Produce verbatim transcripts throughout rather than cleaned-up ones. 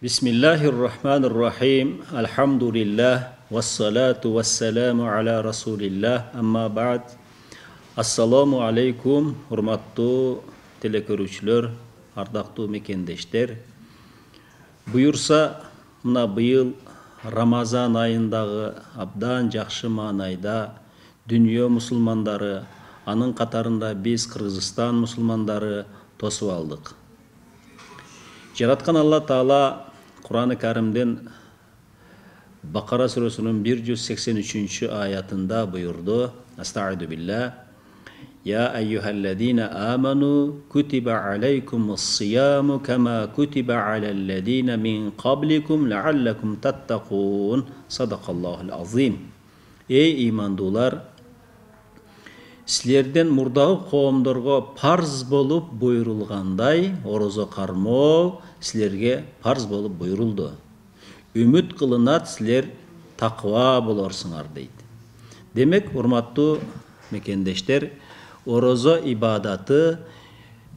Бисмиллахир-рахманир-рахим. Алхамдулиллах. Вассалату вассаламу аля расулиллах. Амма ба'д. Ассаламу алейкум, урматтуу телекөрүүчүлөр, ардактуу мекендештер. Буюрса, мына быйыл Рамазан айындагы абдан жакшы маанайда дүйнө мусулмандары, анын катарында биз Кыргызстан мусулмандары тосуп алдык. Жараткан Алла Таала Кур'ан-ы Каримден Бакара сүрөсүнүн бир жүз сексен үчүнчү аятында буйурду: Астаиду билlah. Я айюхалладина аману кутиба алейкумус-сияму кама кутиба алалладина мин кабликум лааллакум таттакун. Садакаллахул азим. Эй имандуулар, силерден мурдагы коомдорго парз болуп буйрулгандай орозо кармоо силерге парз болуп буйрулду. Үмүт кылынат силер таква болорсуңар дейт. Демек, урматтуу мекендештер, орозо ибадаты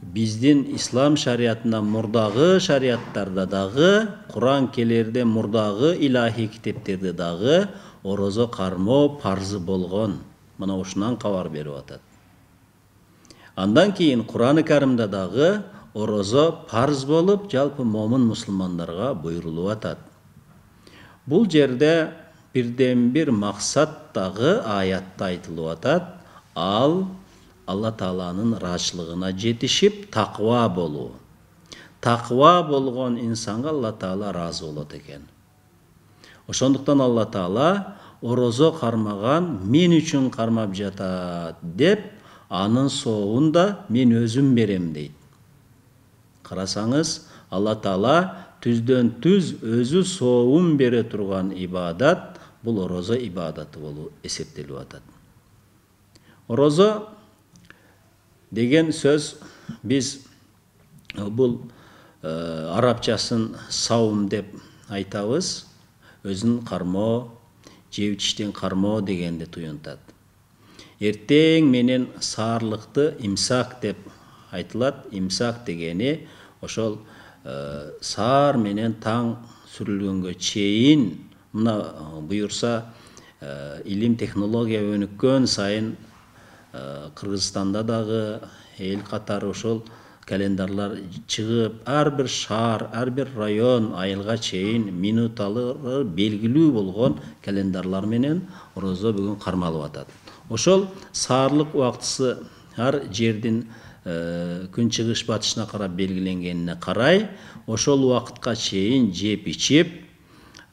биздин ислам шариятына мурдагы шариаттарда дагы, Кур'ан келерде мурдагы илахи китептерде дагы орозо кармоо парзы болгон. Мына ушунан кабар берип атат. Андан кийин Кур'ан-ы Каримде дагы орозо парз болуп, жалпы момун мусулмандарга буйрулуп атат. Бул жерде бирден бир максат дагы аятта айтылып атат. Ал Алла Тааланын ыраазычылыгына жетишип, таква болуу. Таква болгон инсанга Алла Таала ыраазы болот экен. Ошондуктан Алла Таала орозо кармаган мен үчүн кармап жатат деп, анын соогун да мен өзүм берем дейт. Карасаңыз, Алла Таала түздөн түз өзү соогун бере турган ибадат бул орозо ибадаты болуп эсептелип атат. Орозо деген сөз биз бул э, арабчасын саум деп айтабыз. Өзүн кармоо, жеп ичиштен кармоо дегенди туюнтат. Эртең менен саарлыкты имсак деп айтылат. Имсак дегени ошол э, саар менен таң сүрүлгөнгө чейин, мына буюрса э, илим технология өнүккөн сайын э, Кыргызстанда дагы эл катары ошол календарлар чыгып, ар бир шаар, ар бир район айылга чейин минуталары белгилүү болгон календарлар менен орозо бүгүн кармалып атат. Ошол саарлык убактысы ар жердин э, күнчыгыш батышына карап белгиленгенине карай, ошол убакытка чейин жеп ичип,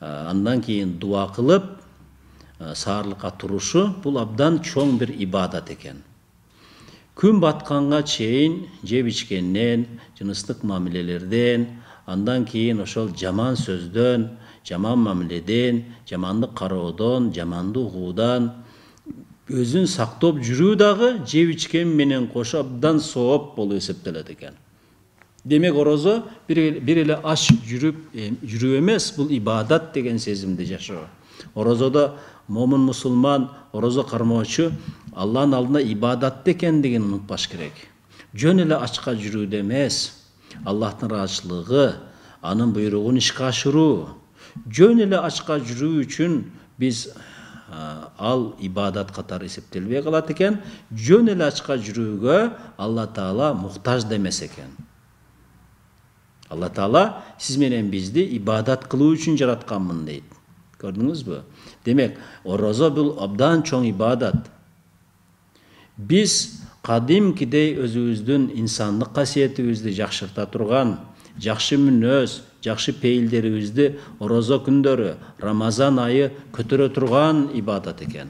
э, андан кийин дуа кылып, э, саарлыкка турушу бул абдан чоң бир ибадат экен. Күн батканга чейин жеп ичкенден, жыныстык мамилелерден, андан кийин ошол жаман сөздөн, жаман мамиледен, жамандык кароодон, жаманды угуудан өзүн сактоп жүрүү дагы жеп ичкен менен кошо абдан сооп болуп эсептелет экен. Демек, орозо бир, бир эле аш жүрүп жүрүү эмес, бул ибадат деген сезимди жашоо. Орозодо момун мусулман, орозо кармоочу Алланын алдында ибадат экендигин унутпаш керек. Жөн эле ачка жүрүүдө эмес, Аллахтын ыраазычылыгы, анын буйругун ишке ашыруу. Жөн эле ачка жүрүү үчүн биз ал ибадат катары эсептелбей калат экен. Жөн эле ачка жүрүүгө Алла Таала муктаж демес экен. Алла Таала сиз менен бизди ибадат кылуу үчүн жаратканмын дейт. Көрдүңүзбү? Демек, орозо бул абдан чоң ибадат. Биз кадимкидей өзүбүздүн инсандык касиетибизди жакшырта турган, жакшы мүнөз, жакшы пейилдерибизди орозо күндөрү, Рамазан айы көтөрө турган ибадат экен.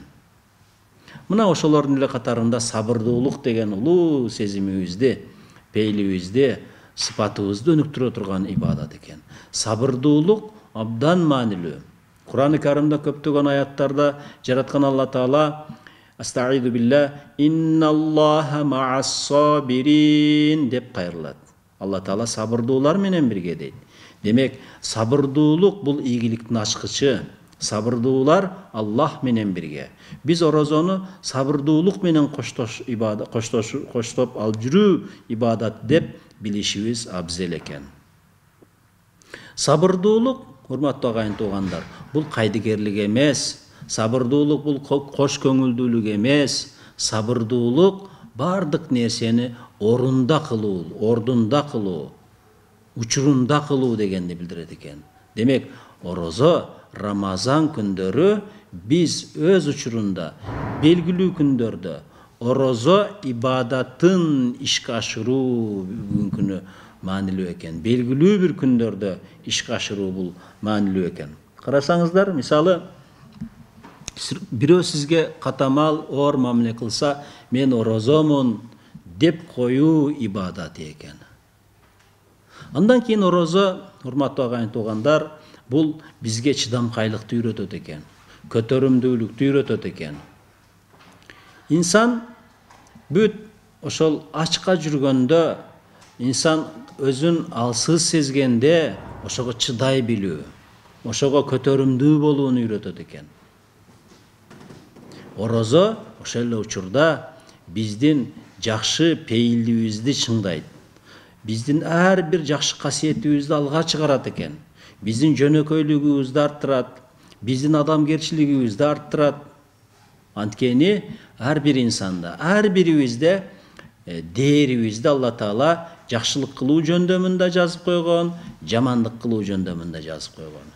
Мына ошолордун эле катарында сабырдуулук деген улуу сезимибизди, пейилибизди, сыпатыбызды өнүктүрө турган ибадат экен. Сабырдуулук абдан маанилүү. Кур'ан-ы Каримде көптөгөн аяттарда жараткан Алла Таала Астаиду билlah, инналлаха ма'ас-сабирин деп кайрылат. Алла Таала сабырдуулар менен бирге дейт. Демек, сабырдуулук бул ийгиликтин ачкычы. Сабырдуулар Аллах менен бирге. Биз орозону сабырдуулук менен коштош ибадат, коштош коштоп алып жүрүү ибадат деп билишибиз абзел экен. Сабырдуулук, урматтуу агайын туугандар, бул кайдыгерлик эмес. Сабырдуулук бул кош көңүлдүүлүк эмес. Сабырдуулук бардык нерсени орунда кылуу, ордунда кылуу, учурунда кылуу дегенди билдирет экен. Демек, орозо, Рамазан күндөрү биз өз учурунда белгилүү күндөрдө орозо ибадатын ишке ашыруу күнү маанилүү экен. Белгилүү бир күндөрдө ишке ашыруу бул маанилүү экен. Карасаңыздар, мисалы, бирөө сизге катамал оор мамиле кылса, мен орозомун деп коюу ибадат экен. Андан кийин орозо, урматтуу агайын туугандар, бул бизге чыдамкайлыкты үйрөтөт экен, көтөрүмдүүлүктү үйрөтөт экен. Инсан бүт ошол ачка жүргөндө, инсан өзүн алсыз сезгенде ошого чыдай билүү, ошого көтөрүмдүү болууну үйрөтөт экен. Орозо ошол эле учурда биздин жакшы пейилдибизди чыңдайт. Биздин ар бир жакшы касиетибизди алга чыгарат экен. Биздин жөнөкөйлүгүбүздү арттырат, биздин адамгерчилигибизди арттырат. Анткени ар бир инсанда, ар бирибизде дээрибизди Алла Таала жакшылык кылуу жөндөмүндө жазып койгон, жамандык кылуу жөндөмүндө жазып койгон.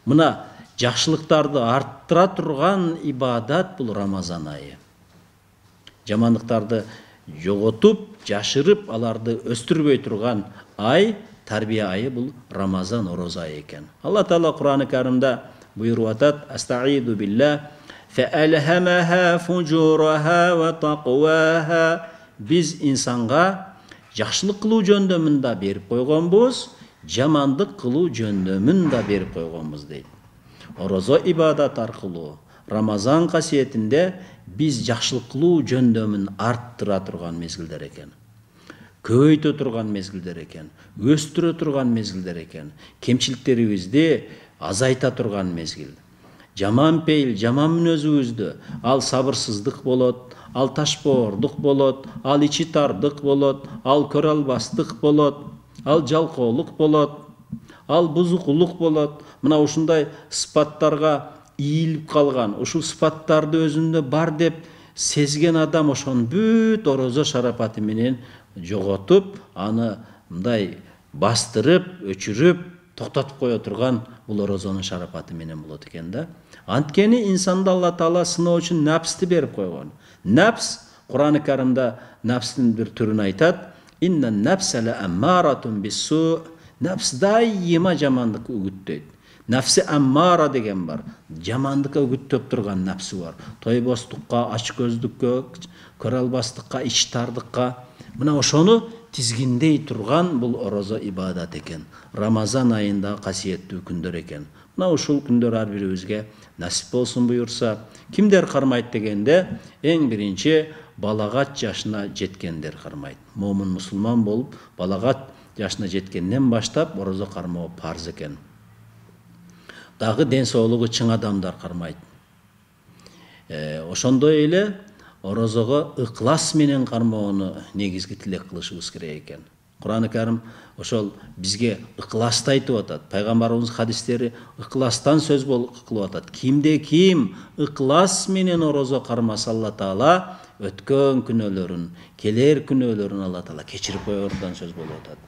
Мына жакшылыктарды арттыра турган ибадат бул Рамазан айы. Жамандыктарды жоготуп, жашырып, аларды өстүрбөй турган ай, тарбия айы бул Рамазан орозо айы экен. Алла Таала Кур'ан-ы Каримде буйруп атат: "Астаиду билlah, фаалхамаха фужураха ва тaqwaha." Биз инсанга жакшылык кылуу жөндөмүн да берип койгонбуз, жамандык кылуу жөндөмүн да берип койгонбуз дейт. Орозо ибадат аркылуу, Рамазан касиетинде биз жакшылык кылуу жөндөмүн арттыра турган мезгилдер экен. Көбөйтө турган мезгилдер экен, өстүрө турган мезгилдер экен. Кемчиликтерибизди азайта турган мезгил. Жаман пейил, жаман мүнөзүбүздү, ал сабырсыздык болот, ал ташпоордук болот, ал ичи тардык болот, ал көрө албастык болот, ал жалкоолук болот, ал бузукулук болот. Мына ушундай сыпаттарга ийилип калган, ушул сыпаттарды өзүндө бар деп сезген адам ошонун бүт орозо шарапаты менен жоготуп, аны мындай бастырып, өчүрүп, токтотуп кое турган бул орозонун шарапаты менен болот экен да. Анткени инсанда Алла Таала сыноо үчүн нафсти берип койгон. Нафс, Кур'ан-ы Каримде нафстин бир түрүн айтат: "Инна нафсала аммаратун бису." Нафс дайыма жамандык үгүттөйт. Нафси аммара деген бар. Жамандыкка үгүттөп турган нафси бар. Тойбостукка, ачкөздүккө, көрө албастыкка, ич тардыкка. Мына ошону тизгиндей турган бул орозо ибадат экен. Рамазан айында касиеттүү күндөр экен. Мына ушул күндөр ар бирибизге насип болсун буюрса. Кимдер кармайт дегенде, эң биринчи балагат жашына жеткендер кармайт. Момун мусулман болуп, балагат жашына жеткенден баштап орозо кармоо парз экен. Дагы ден соолугу чың адамдар кармайт. Э, ошондой эле орозого ыклас менен кармоону негизги тилек кылышыбыз керек экен. Кур'ан-ы Карим ошол бизге ыкласты айтып атат. Пайгамбарыбыз хадистери ыкластан сөз кылып атат. Кимде ким ыклас менен орозо кармаса, Алла Таала өткөн күнөөлөрүн, келер күнөөлөрүн Алла Таала кечирип коердон сөз болуп атат.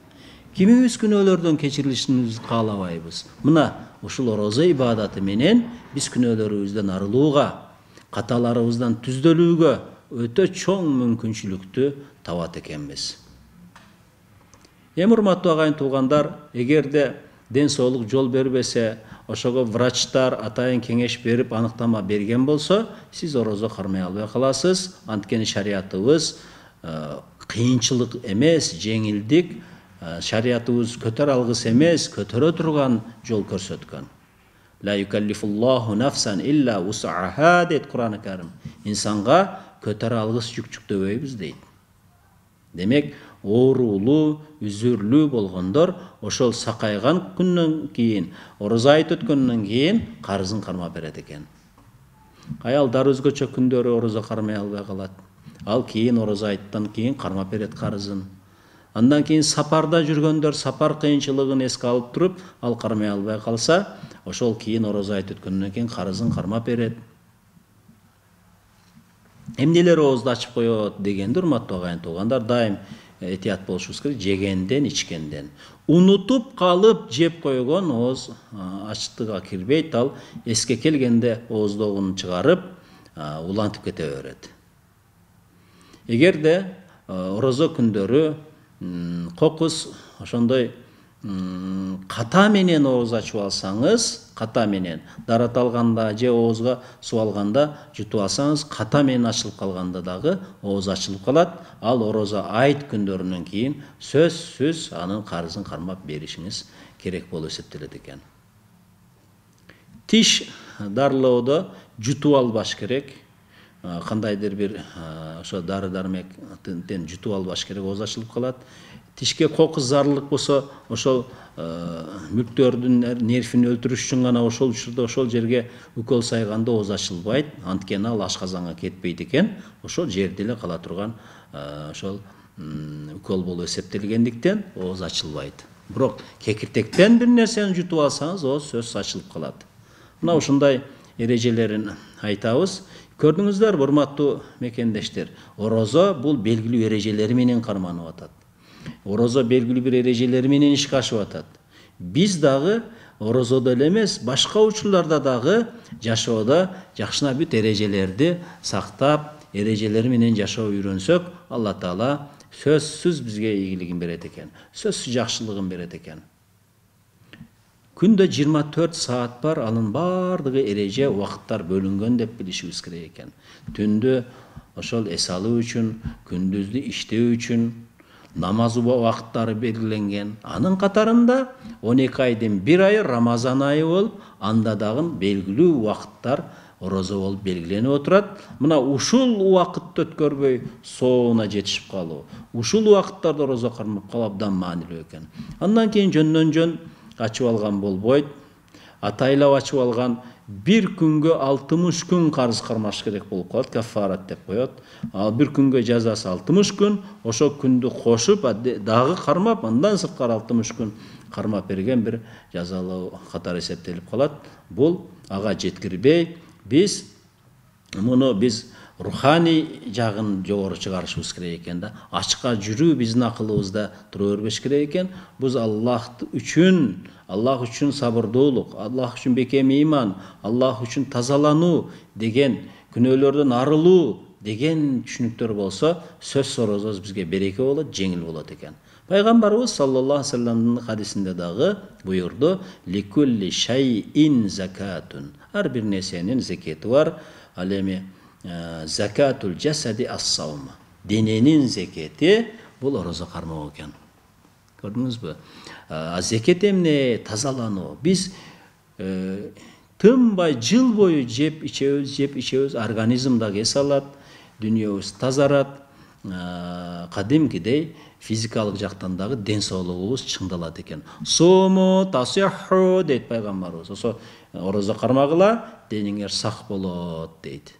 Кимибиз күнөөлөрдөн кечирилишин каалабайбыз. Мына ушул орозо ибадаты менен биз күнөөлөрүбүздөн арылууга, каталарыбыздан түздөлүүгө өтө чоң мүмкүнчүлүктү табат экенбиз. Эми урматтуу агайын туугандар, эгерде ден соолук жол бербесе, ошого врачтар атайын кеңеш берип аныктама берген болсо, сиз орозо кармай албай каласыз. Анткени шариятыбыз кыйынчылык эмес, жеңилдик, шариятыбыз көтөрө алгыс эмес, көтөрө турган жол көрсөткөн. Ла юкаллифуллаху нафсан илля вус'аха дейт Кур'ан-ы Карим. Инсанга көтөрө алгыс жүк жүктөбөйбүз дейт. Демек, оорулуу, үзүрлүү болгондор ошол сакайган күндөн кийин, орозо айт өткөндөн кийин карызын кармап берет экен. Аялдар өзгөчө күндөрү орозо кармай албай калат. Ал кийин орозо айттан кийин кармап берет карызын. Андан кийин сапарда жүргөндөр сапар кыйынчылыгын эске алып туруп, ал кармай албай калса, ошол кийин орозо айтып өткөндөн кийин карызын кармап берет. Эмнелер оозду ачып коет дегенде, урматтуу агайын туугандар, дайым этият болушубуз керек. Жегенден, ичкенден. Унутуп калып жеп койгон ооз ачтыгга кирбейт, ал эске келгенде ооздогун чыгарып, улантып кете берет. Эгерде орозо күндөрү кокус ошондой ката менен ооз ачып алсаңыз, ката менен дарат алганда же оозго суу алганда жутуп алсаңыз, ката менен ачылып калганда дагы ооз ачылып калат. Ал орозо айт күндөрүнөн кийин сөзсүз анын карызын кармап беришиңиз керек болуп эсептелет экен. Тиш дарылоодо жутуп албаш керек. Кандайдыр бир ошо дары дармектен жутуп албаш керек, ооз ачылып калат. Тишке кокус зарылык болсо, ошол мүктөрдүн нервин өлтүрүш үчүн гана ошол учурда ошол жерге укол сайганда ооз ачылбайт. Анткени ал ашказанга кетпейт экен. Ошол жерде эле кала турган ошол укол болуп эсептелгендиктен ооз ачылбайт. Бирок кекиртектен бир нерсени жутуп алсаңыз, ооз сөзсүз ачылып калат. Мына ушундай эрежелерин айтабыз. Көрдүңүздөр, урматтуу мекендештер, орозо бул белгилүү эрежелери менен карманып атат. Орозо белгилүү бир эрежелери менен ишке ашып атат. Биз дагы орозодо эле эмес, башка учурларда дагы жашоодо жакшына бүт эрежелерди сактап, эрежелери менен жашоо үйрөнсөк, Алла Таала сөзсүз бизге ийгилигин берет экен. Сөзсүз жакшылыгын берет экен. Күндө жыйырма төрт саат бар, анын бардыгы эреже, убакыттар бөлүнгөн деп билишибиз керек экен. Түндө ошол эс алуу үчүн, күндүздү иштөө үчүн намаз убакыттары белгиленген. Анын катарында он эки айдын бир айы Рамазан айы болуп, анда дагы белгилүү убакыттар орозо болуп белгиленип отурат. Мына ушул убакытты өткөрбөй соонуна жетишип калуу, ушул убакыттарда орозо кармап калуу абдан маанилүү экен. Андан кийин жөндөн жөн ачып алган болбойт. Атайлап ачып алган бир күнгө алтымыш күн карыз кармаш керек болуп калат, кафарат деп коет. Ал бир күнгө жазасы алтымыш күн, ошол күндү кошуп дагы кармап, андан сырткары алтымыш күн кармап берген бир жазалоо катары эсептелип калат. Бул ага жеткирбей, биз муну биз руханий жагын жогору чыгарышыбыз керек экен да. Ачка жүрүү биздин акылыбызда тура бербеш керек экен. Биз Аллах үчүн, Аллах үчүн сабырдуулук, Аллах үчүн бекем ыйман, Аллах үчүн тазалануу деген, күнөөлөрдөн арылуу деген түшүнүктөр болсо, сөз орозобуз бизге береке болот, жеңил болот экен. Пайгамбарыбыз саллаллаху алейхи вассаламдын хадисинде дагы буйурду: "Ликулли шайин закатун". Ар бир нерсенин зекети бар. Ал эми закатул жасади ас-саум. Дененин зекети бул орозо кармоо экен. Көрдүңүзбү? А зекет эмне? Тазалануу. Биз тынбай жыл бою жеп ичебиз, жеп ичебиз, организм дагы эс алат, дүйнөбүз тазарат. Кадимкидей физикалык жактан дагы ден соолугубуз чыңдалат экен. Сому тасиху дейт пайгамбарыбыз. Ошо орозо кармагыла, денеңер сак болот дейт.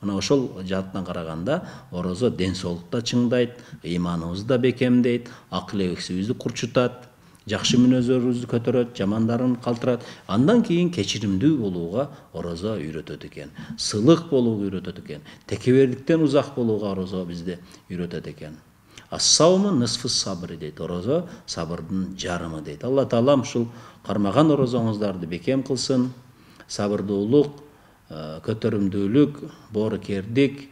Мына ошол жааттан караганда орозо ден соолукта чыңдайт, ыйманыбызды да бекемдейт, акыл эсибизди курчутат, жакшы мүнөздөрүбүздү көтөрөт, жамандарын калтырат. Андан кийин кечиримдүү болууга орозо үйрөтөт экен. Сылык болууга үйрөтөт экен. Текебердиктен узак болууга орозо бизди үйрөтөт экен. Ас-сауму нисфу сабр дейт. Орозо сабырдын жарымы дейт. Алла Таала ушул кармаган орозоңуздарды бекем кылсын. Сабырдуулук, көтөрүмдүүлүк, боорукердик,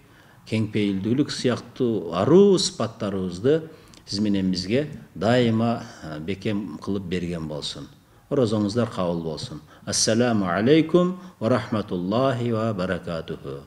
кеңпейилдүүлүк сыяктуу аруу сыпаттарыбызды сиз менен бизге дайыма бекем кылып берген болсун. Орозоңуздар кабыл болсун. Ассаламу алейкум ва рахматуллахи ва баракатуху.